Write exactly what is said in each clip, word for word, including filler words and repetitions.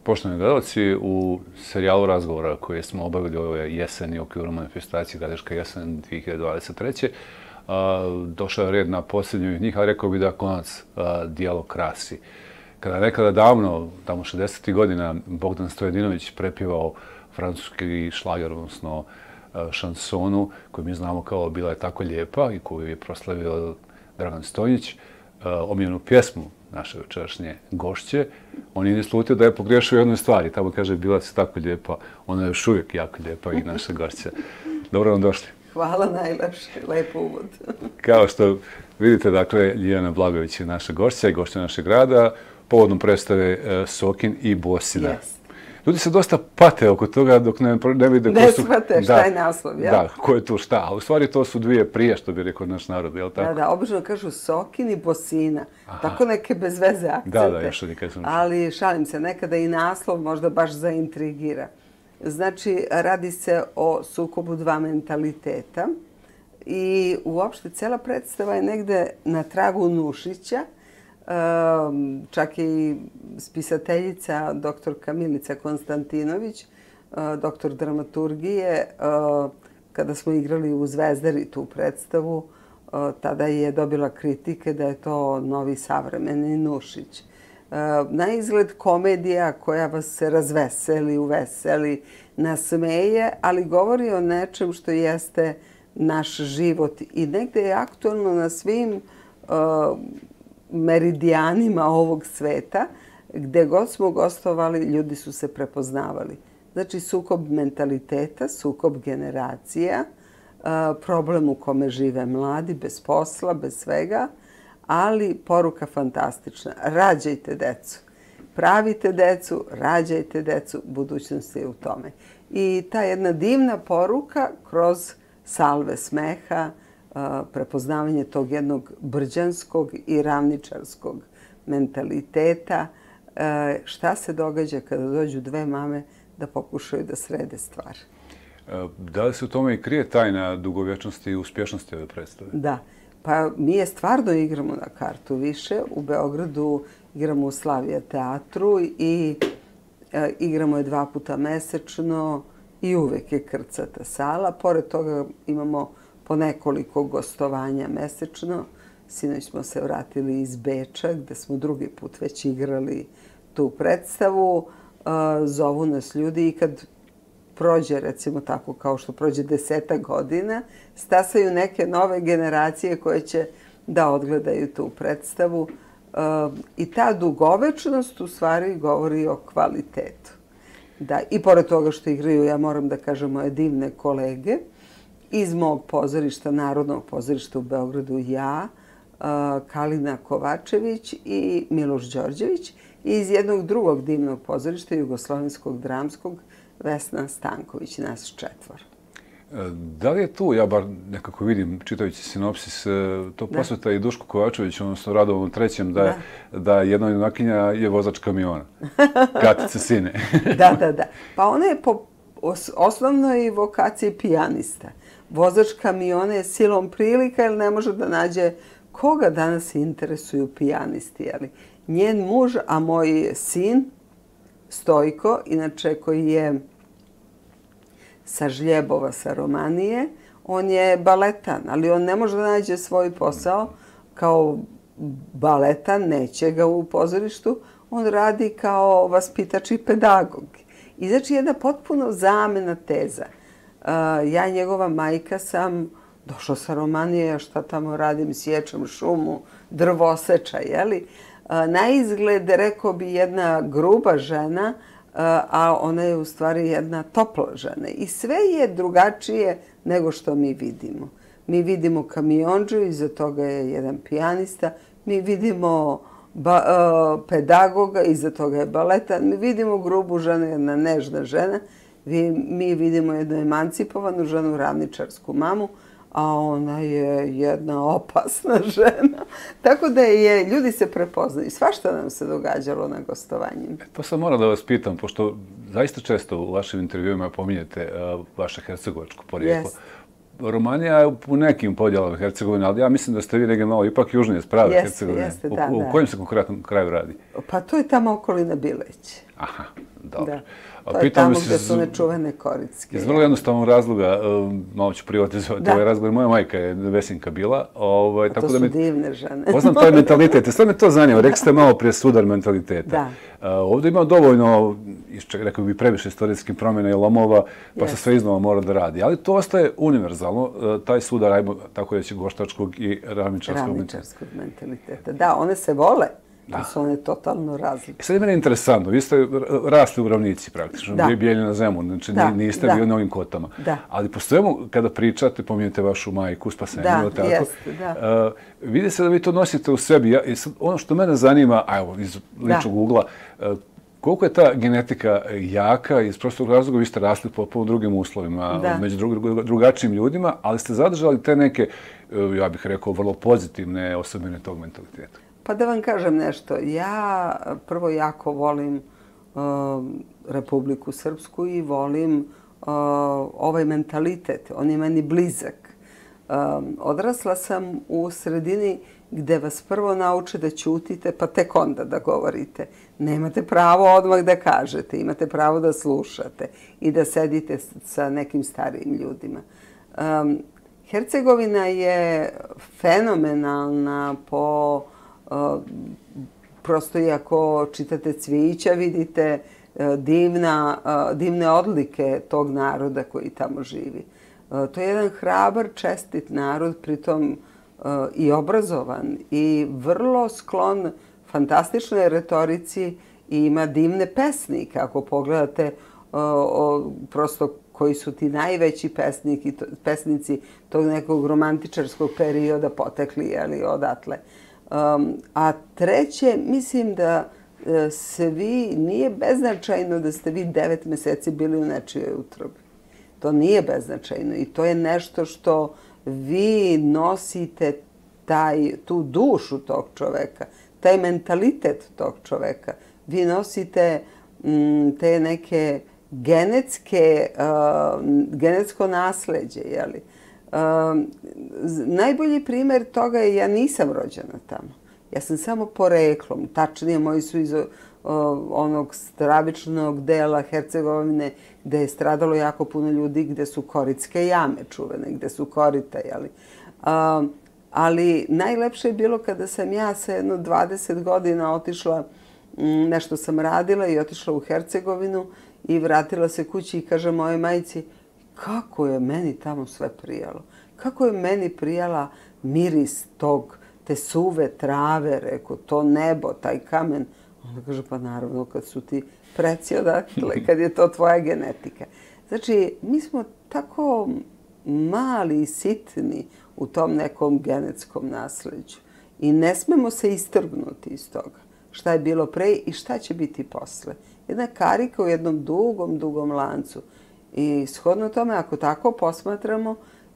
Poštovani gledalci, u serijalu razgovora koje smo obavili ove jeseni u okviru manifestacije Gradiška jesen dvije hiljade dvadeset treće. došao je red na posljednju njih, ali rekao bih da konac dijalog krasi. Kada je nekada davno, tamo šezdesetih godina, Bogdan Stojadinović prepjevao francuski šlager, odnosno šansonu, koju mi znamo kao Bila je tako lijepa i koju je proslavio Dragan Stojnić, omiljenu pjesmu naše večerašnje gošće, on je slutio da je pogriješio u jednoj stvari. Tamo kaže Bila si tako lijepa, ona je još uvijek jako lijepa i naša gošća. Dobro vam došli. Hvala najlepše, lepo uvod. Kao što vidite, dakle, Ljiljana Blagojević je naša gošća i gošća našeg grada, povodom predstave Sokin i Bosina. Ljudi se dosta pate oko toga dok ne, ne vide... Ne shvate šta je naslov, jel? Da, ko je tu šta. A u stvari to su dvije prije, što bi rekao naš narod, jel tako? Da, da, obično kažu Sokin i Bosina. Tako neke bez veze akcente. Da, da, još nikad sam... Ali šalim se, nekada i naslov možda baš zaintrigira. Znači, radi se o sukobu dva mentaliteta i uopšte cela predstava je negde na tragu Nušića. Čak i spisateljica doktorka Milica Konstantinović, doktor dramaturgije, kada smo igrali u Zvezdari tu predstavu, tada je dobila kritike da je to novi savremeni Nušić. Na izgled komedija koja vas se razveseli, uveseli, nasmeje, ali govori o nečem što jeste naš život i negde je aktualno na svim meridijanima ovog sveta, gde god smo gostovali, ljudi su se prepoznavali. Znači, sukob mentaliteta, sukob generacija, problem u kome žive mladi, bez posla, bez svega, ali poruka fantastična. Rađajte decu. Pravite decu, rađajte decu, budućnost je u tome. I ta jedna divna poruka kroz salve smeha, prepoznavanje tog jednog brđanskog i ravničarskog mentaliteta. Šta se događa kada dođu dve mame da pokušaju da srede stvar? Da li se u tome i krije tajna dugovječnosti i uspješnosti ove predstave? Da. Pa mi je stvarno igramo na kartu više. U Beogradu igramo u Slavija teatru i igramo je dva puta mesečno i uvek je krcata sala. Pored toga imamo po nekoliko gostovanja mesečno. Sinoć smo se vratili iz Beča, gde smo drugi put već igrali tu predstavu. Zovu nas ljudi i kad prođe, recimo tako, kao što prođe desetak godina, stasaju neke nove generacije koje će da odgledaju tu predstavu. I ta dugovečnost u stvari govori o kvalitetu. Da, i pored toga što igraju, ja moram da kažem, moje divne kolege, iz mog pozorišta, Narodnog pozorišta u Beogradu, ja, Kalina Kovačević i Miloš Đorđević, i iz jednog drugog divnog pozorišta, Jugoslovenskog dramskog, Vesna Stanković, nas četvor. Da li je tu, ja bar nekako vidim, čitajući sinopsis, to posveta i Dušku Kovačević, odnosno Radovom trećem, da jedna junakinja je vozač kamiona, Katice sine. Da, da, da. Pa ona je po osnovnoj vokaciji pijanista. Vozač kamiona je silom prilika jer ne može da nađe koga danas interesuju pijanisti. Njen muž, a moj sin, Stojko, inače koji je sa Žljebova, sa Romanije, on je baletan, ali on ne može da nađe svoj posao kao baletan, neće ga u pozorištu, on radi kao vaspitač i pedagog. I znači jedna potpuno zamena teza. Ja i njegova majka sam došla sa Romanije, šta tamo radim, sječem šumu, drvoseča, jeli? Na izgled, rekao bi, jedna gruba žena, a ona je u stvari jedna topla žena. I sve je drugačije nego što mi vidimo. Mi vidimo kamionđu, iza toga je jedan pijanista, mi vidimo pedagoga, iza toga je baletan, mi vidimo grubu ženu, jedna nežna žena, mi vidimo jednu emancipovanu ženu, ravničarsku mamu, a ona je jedna opasna žena. Tako da je, ljudi se prepoznaju. Svašta nam se događalo na gostovanjima. To sam moram da vas pitam, pošto zaista često u vašim intervjuima pominjete vaše hercegovačko porijeklo. Romanija je u nekim podjelama Hercegovine, ali ja mislim da ste vi negdje malo ipak južnije sprave Hercegovine. Jeste, jeste, da, da. U kojem se konkretnom kraju radi? Pa to je tamo okolina Bileće. Aha, Da. To je tamo gde su nečuvene koricke. Iz vrlo jednostavnog razloga, malo ću privatizovati ovaj razgovor, moja majka je Vesinka bila. To su divne žene. Poznam taj mentalitet. Sad me to zanima. Rekli ste malo prije sudar mentaliteta. Ovdje ima dovoljno, rekao bih, previše istorijskih promjena i lomova, pa se sve iznova mora da radi. Ali to ostaje univerzalno, taj sudar, ajmo tako reći, goštačkog i ravničarskog mentaliteta. Da, one se vole. Da su one totalno različite. Sad je mene interesantno, vi ste rasli u ravnici praktično, Bijeljina Zemun, znači niste bili na ovim kotama. Ali po svemu, kada pričate, pominjete vašu majku, Spasenju, da, jeste, da. Vidi se da vi to nosite u sebi. Ono što mene zanima, a evo, iz ličnog ugla, koliko je ta genetika jaka, iz prostog razloga vi ste rasli po drugim uslovima, među drugačijim ljudima, ali ste zadržali te neke, ja bih rekao, vrlo pozitivne osobine tog mentaliteta. Pa da vam kažem nešto, ja prvo jako volim Republiku Srpsku i volim ovaj mentalitet, on je meni blizak. Odrasla sam u sredini gde vas prvo nauče da ćutite, pa tek onda da govorite. Nemate pravo odmah da kažete, imate pravo da slušate i da sedite sa nekim starijim ljudima. Hercegovina je fenomenalna po... Prosto i ako čitate Cvijića, vidite divne odlike tog naroda koji tamo živi. To je jedan hrabar, čestit narod, pritom i obrazovan i vrlo sklon fantastičnoj retorici i ima divne pesnike. Ako pogledate prosto koji su ti najveći pesnici tog nekog romantičarskog perioda potekli odatle. A treće, mislim da se vi, nije beznačajno da ste vi devet meseci bili u nečijoj utrobi. To nije beznačajno i to je nešto što vi nosite tu dušu tog čoveka, taj mentalitet tog čoveka. Vi nosite te neke genetsko nasleđe, jeli? Najbolji primjer toga je ja nisam rođena tamo. Ja sam samo poreklom. Tačnije, moji su iz onog stravičnog dela Hercegovine gde je stradalo jako puno ljudi, gde su koritske jame čuvene, gde su korita, jeli. Ali najlepše je bilo kada sam ja sa jedno dvadeset godina otišla, nešto sam radila i otišla u Hercegovinu i vratila se kući i kaže moje majici, kako je meni tamo sve prijalo. Kako je meni prijala miris tog, te suve trave, reko, to nebo, taj kamen. Onda kaže, pa naravno, kad su ti preci odatle, kad je to tvoja genetika. Znači, mi smo tako mali i sitni u tom nekom genetskom nasleđu. I ne smemo se istrgnuti iz toga. Šta je bilo pre i šta će biti posle. Jedna karika u jednom dugom, dugom lancu. I shodno tome, ako tako posmatramo,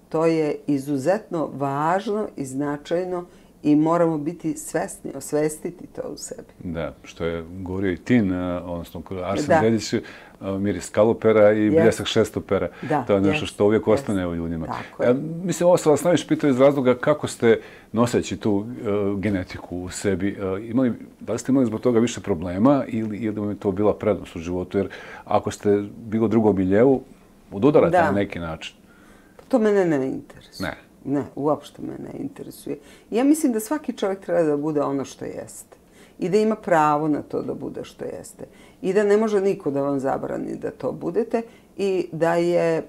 to je izuzetno važno i značajno i moramo biti svesni, osvestiti to u sebi. Da, što je govorio i Tin, odnosno Arsen Dedić, miris kalupera i bljesak šestopera. To je nešto što uvijek ostane u ljudima. Mislim, ovo sam vas najviše pitao iz razloga kako ste noseći tu genetiku u sebi. Da li ste imali zbog toga više problema ili vam je to bila prednost u životu? Jer ako ste bilo drugom miljevu, odudarate na neki način. To mene ne interesuje. Ne. Ne, uopšte me ne interesuje. Ja mislim da svaki čovjek treba da bude ono što jeste. I da ima pravo na to da bude što jeste. I da ne može niko da vam zabrani da to budete. I da je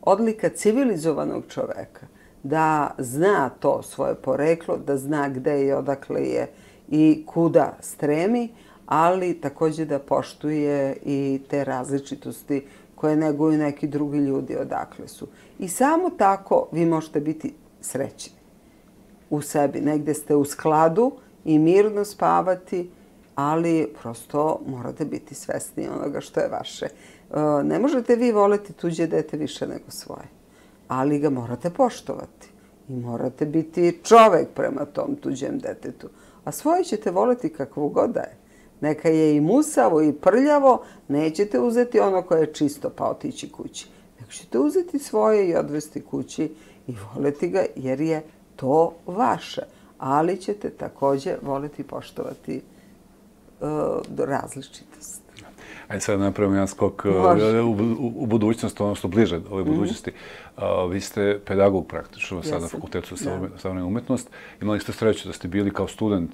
odlika civilizovanog čoveka da zna to svoje poreklo, da zna gde i odakle je i kuda stremi, ali također da poštuje i te različitosti koje neguju neki drugi ljudi odakle su. I samo tako vi možete biti srećni u sebi. Negde ste u skladu i mirno spavati, ali prosto morate biti svesni onoga što je vaše. Ne možete vi voleti tuđe dete više nego svoje, ali ga morate poštovati i morate biti čovek prema tom tuđem detetu. A svoje ćete voleti kakvo god da je. Neka je i musavo i prljavo, nećete uzeti ono koje je čisto pa otići kući. Nego ćete uzeti svoje i odvesti kući i voleti ga jer je to vaše. Ali ćete također voleti i poštovati različitost. Ajde sad napravimo jedan skok u budućnost, ono što bliže ove budućnosti. Vi ste pedagog praktično sad na Fakultetu za savremenu umetnost. Imali ste sreću da ste bili kao student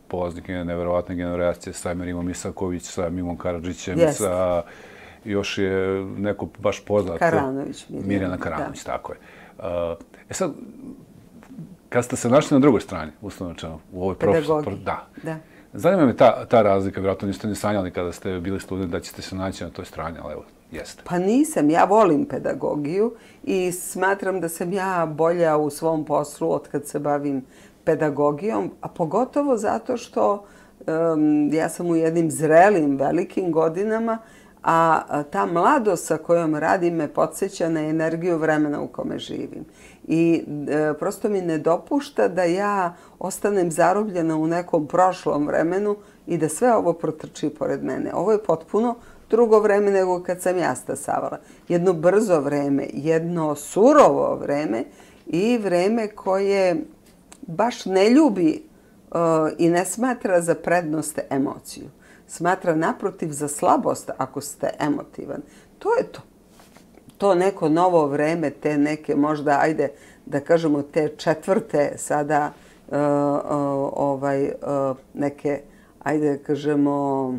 polaznik neverovatne generacije sa Emirom Isaković, sa Mimom Karadžićem, sa još je neko baš poznat. Karanović. Mirjana Karanović, tako je. E sad, kad ste se našli na drugoj strani, uslovno rečeno, u ovoj profesiji, da. Zanima me ta razlika, vjerojatno niste ni sanjali kada ste bili student da ćete se naći na toj strani, ali evo, jeste. Pa nisam, ja volim pedagogiju i smatram da sam ja bolja u svom poslu od kad se bavim pedagogijom, a pogotovo zato što ja sam u jednim zrelim, velikim godinama, a ta mladost sa kojom radim me podsjeća na energiju vremena u kome živim. I prosto mi ne dopušta da ja ostanem zarobljena u nekom prošlom vremenu i da sve ovo protrči pored mene. Ovo je potpuno drugo vreme nego kad sam ja stasavala. Jedno brzo vreme, jedno surovo vreme i vreme koje baš ne ljubi i ne smatra za prednost emociju. Smatra naprotiv za slabost ako ste emotivan. To je to. To neko novo vreme, te neke možda, ajde da kažemo, te četvrte sada neke, ajde da kažemo,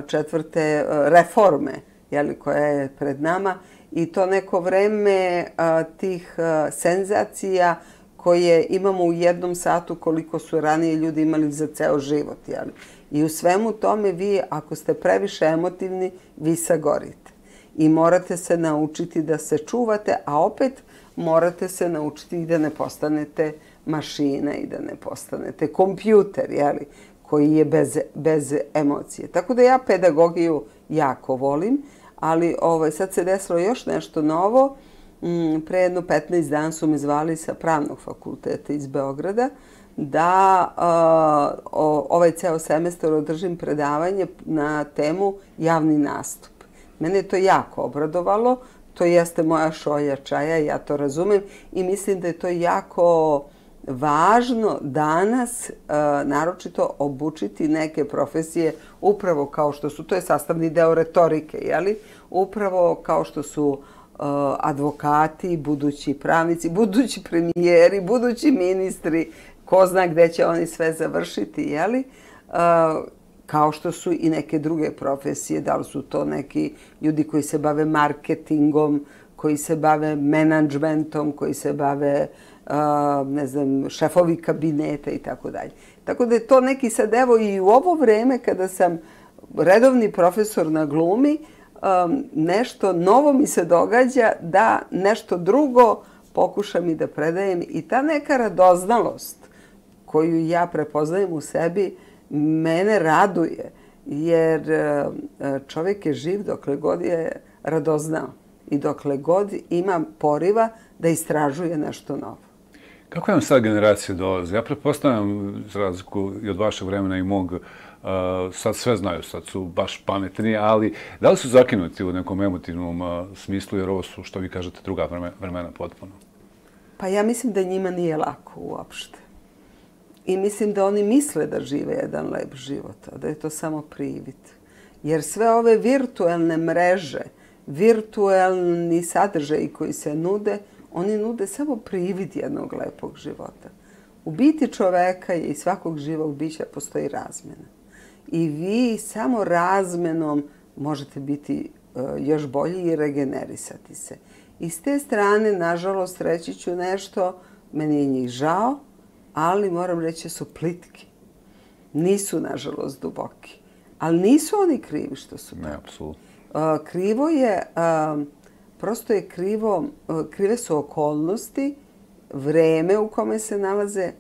četvrte reforme koja je pred nama i to neko vreme tih senzacija koje imamo u jednom satu koliko su ranije ljudi imali za ceo život. I u svemu tome vi, ako ste previše emotivni, vi sagorite. I morate se naučiti da se čuvate, a opet morate se naučiti i da ne postanete mašina i da ne postanete kompjuter, koji je bez emocije. Tako da ja pedagogiju jako volim, ali sad se desilo još nešto novo. Pre jedno petnaest dana su me zvali sa Pravnog fakulteta iz Beograda da ovaj ceo semestar održim predavanje na temu javni nastup. Mene je to jako obradovalo, to jeste moja šolja čaja, ja to razumem i mislim da je to jako važno danas, naročito obučiti neke profesije upravo kao što su, to je sastavni deo retorike, jeli? Upravo kao što su advokati, budući pravnici, budući premijeri, budući ministri, ko zna gde će oni sve završiti, jeli? Kao što su i neke druge profesije, da li su to neki ljudi koji se bave marketingom, koji se bave menadžmentom, koji se bave, ne znam, šefovi kabineta i tako dalje. Tako da je to neki sad, evo i u ovo vreme kada sam redovni profesor na glumi, nešto novo mi se događa da nešto drugo pokušam i da predajem i ta neka radoznalost koju ja prepoznajem u sebi mene raduje, jer čovjek je živ dokle god je radoznao i dokle god ima poriva da istražuje nešto novo. Kako vam sad generacije dolaze? Ja pretpostavljam, za razliku i od vašeg vremena i mog, sad sve znaju, sad su baš pametni, ali da li su zakinuti u nekom emotivnom smislu, jer ovo su, što vi kažete, druga vremena potpuno? Pa ja mislim da njima nije lako uopšte. I mislim da oni misle da žive jedan lep život, a da je to samo privid. Jer sve ove virtualne mreže, virtualni sadržaji koji se nude, oni nude samo privid jednog lepog života. U biti čoveka i svakog živog bića postoji razmena. I vi samo razmenom možete biti još bolji i regenerisati se. I s te strane, nažalost, reći ću nešto, meni je njih žao, ali moram reći su plitki. Nisu, nažalost, duboki. Ali nisu oni krivi što su tako. Ne, apsolutno. Krivo je, prosto je krivo, krive su okolnosti, vreme u kome se nalaze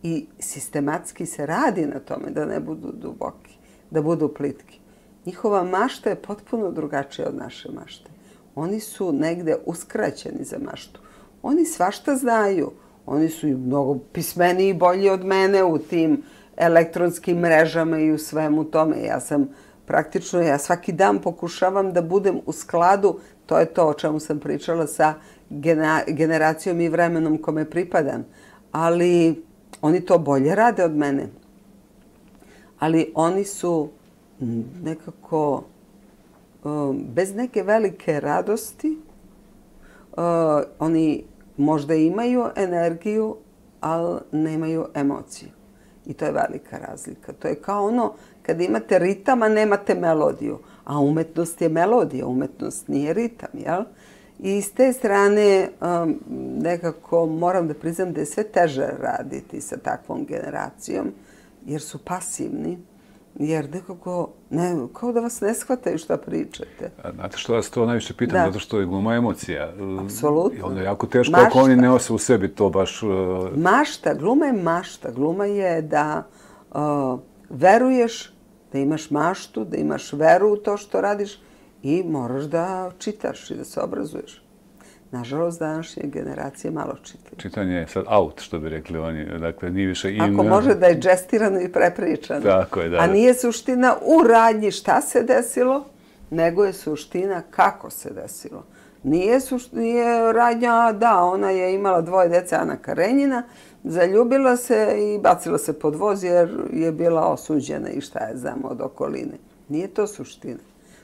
i sistematski se radi na tome da ne budu duboki, da budu plitki. Njihova mašta je potpuno drugačija od naše mašte. Oni su negde uskraćeni za maštu. Oni svašta znaju. Oni su i mnogo pismeniji i bolji od mene u tim elektronskim mrežama i u svemu tome. Ja sam praktično, ja svaki dan pokušavam da budem u skladu, to je to o čemu sam pričala, sa generacijom i vremenom kome pripadam. Ali oni to bolje rade od mene. Ali oni su nekako bez neke velike radosti, oni možda imaju energiju, ali nemaju emociju. I to je velika razlika. To je kao ono kada imate ritam, a nemate melodiju. A umetnost je melodija, umetnost nije ritam, jel? I s te strane nekako moram da priznam da je sve teže raditi sa takvom generacijom, jer su pasivni, jer nekako, ne, kao da vas ne shvataju šta pričate. A znate što vas to najviše pitam, zato što je gluma emocija. Apsolutno. I onda je jako teško ako oni ne nose u sebi to baš... Mašta, gluma je mašta. Gluma je da veruješ, da imaš maštu, da imaš veru u to što radiš i moraš da čitaš i da se obrazuješ. Nažalost, današnje generacije malo čitaju. Čitanje je sad out, što bi rekli oni. Dakle, nije više in... Ako može da je džestirano i prepričano. Tako je, da. A nije suština u radnji šta se desilo, nego je suština kako se desilo. Nije, nije radnja, da, ona je imala dvoje dece, Ana Karenjina, zaljubila se i bacila se pod voz jer je bila osuđena i šta je znam od okoline. Nije to suština.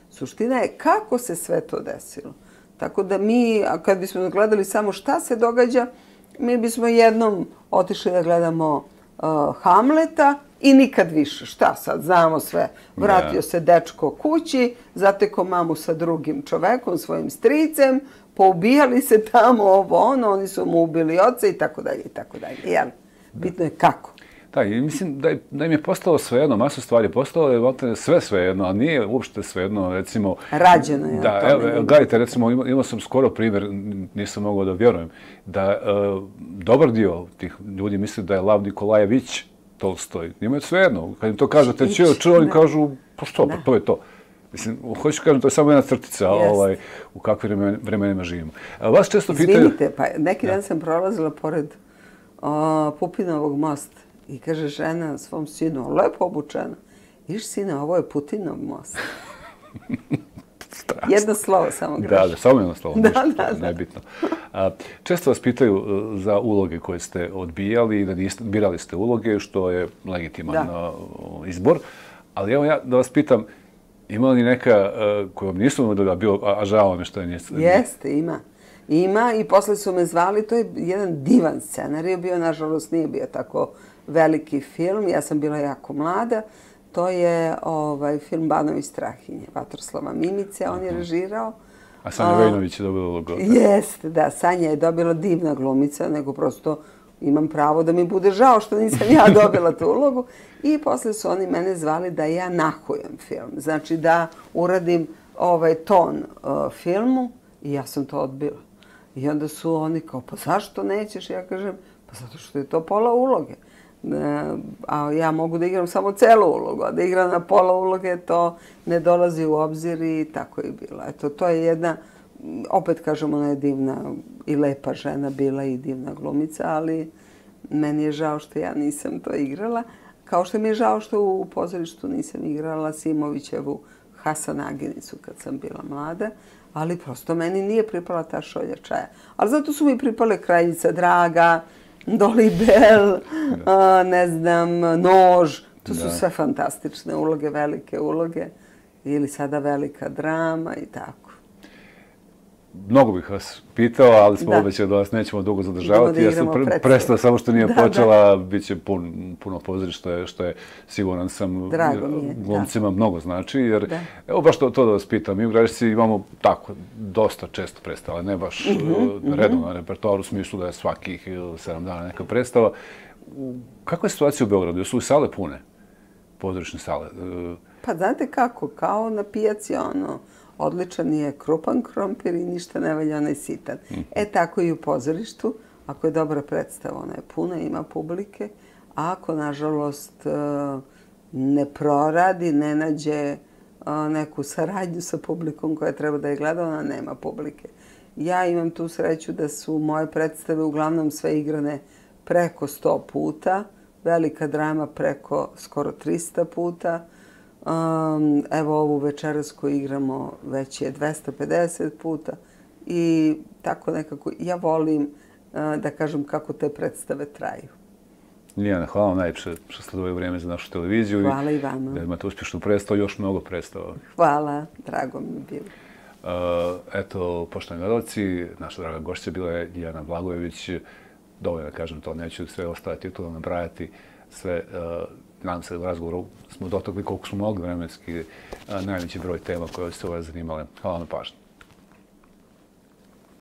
Suština je kako se sve to desilo. Tako da mi, kad bismo gledali samo šta se događa, mi bismo jednom otišli da gledamo uh, Hamleta i nikad više. Šta sad, znamo sve. Vratio se dečko kući, zateko mamu sa drugim čovekom, svojim stricem, poubijali se tamo ovo ono, oni su mu ubili oca i tako dalje i tako dalje. Jel? Bitno je kako. Da, i mislim da, je, da im je postalo svejedno, masu stvari, postalo je sve svejedno, a nije uopšte svejedno, recimo... Rađeno je. Da, evo, gledajte, recimo, imao, imao sam skoro primjer, nisam mogao da vjerujem, da e, dobar dio tih ljudi misli da je Lav Nikolajević Tolstoj. Njima je svejedno, kad im to kažete, čeo, čeo, oni kažu, pa što, pa to je to. Mislim, hoću kažem, to je samo jedna crtica ovaj, u kakvim vremenima živimo. A vas često pitaju... Izvinite, pa neki dan sam prolazila pored o, Pupinovog mosta. I kaže žena svom sinu, lepo obučena. Viš sine, ovo je Putinov most. Jedno slovo samo greš. Da, da, samo jedno slovo, da, ništa, da, da. nebitno. A, često vas pitaju za uloge koje ste odbijali i da niste, birali ste uloge, što je legitiman da. izbor. Ali evo ja da vas pitam, ima li neka koja vam nisu da bio, a žao me što je niste? Jeste, ima. Ima i posle su me zvali, to je jedan divan scenarij bio, nažalost nije bio tako veliki film, ja sam bila jako mlada. To je ovaj, film Banovi Strahinje, Vatroslava Mimice, on je režirao. A Sanja Vejnović je dobila ulogu. Jeste, da, Sanja je dobila divna glumica, nego prosto imam pravo da mi bude žao što nisam ja dobila tu ulogu. I posle su oni mene zvali da ja nahujem film, znači da uradim ovaj ton uh, filmu i ja sam to odbila. I onda su oni kao, pa zašto nećeš? Ja kažem, pa zato što je to pola uloge. A ja mogu da igram samo celu ulogu, a da igram na pola uloge to ne dolazi u obzir i tako je bila. Eto, to je jedna, opet kažem, ona je divna i lepa žena bila i divna glumica, ali meni je žao što ja nisam to igrala. Kao što mi je žao što u pozorištu nisam igrala Simovićevu Hasanaginicu kad sam bila mlada, ali prosto meni nije pripala ta šolja čaja. Ali zato su mi pripale Kraljica Draga, Dolibel, ne znam, Nož. To su sve fantastične uloge, velike uloge. Ili sada velika drama i tako. Mnogo bih vas pitao, ali smo obećali da vas nećemo dugo zadržavati. Ja sam prestao samo što nije počela, bit će puno pozorišta, što je, siguran sam, glumcima mnogo znači. Jer, evo baš to da vas pitam, mi u Gradišci imamo tako, dosta često predstave, ne baš redovno na repertoaru, u smislu da je svakih sedam dana neka predstava. Kakva je situacija u Beogradu? Jesu li sale pune? Pozorišne sale? Pa znate kako, kao na pijaci ono, odličan je krupan krompir i ništa ne valja onaj sitan. E tako i u pozorištu. Ako je dobra predstava, ona je puna, ima publike. A ako, nažalost, ne proradi, ne nađe neku saradnju sa publikom koja treba da je gleda, ona nema publike. Ja imam tu sreću da su moje predstave uglavnom sve igrane preko sto puta, velika drama preko skoro trista puta. Um, evo ovu večeras koju igramo već je dvesta pedeset puta i tako nekako ja volim uh, da kažem kako te predstave traju. Lijana, hvala vam najljepše što ste doveli vrijeme za našu televiziju. Hvala i vama. Da imate uspješnu predstavu, još mnogo predstava. Hvala, drago mi je bilo. Uh, eto, poštovani gledalci, naša draga gošća bila je Lijana Blagojević. Dovoljno da kažem to, neću sve ostale titule nabrajati. Sve, uh, nadam se da u razgovoru smo dotakli koliko smo mogli vremenski uh, najveći broj tema koje ste ove zanimale. Hvala na pažnju.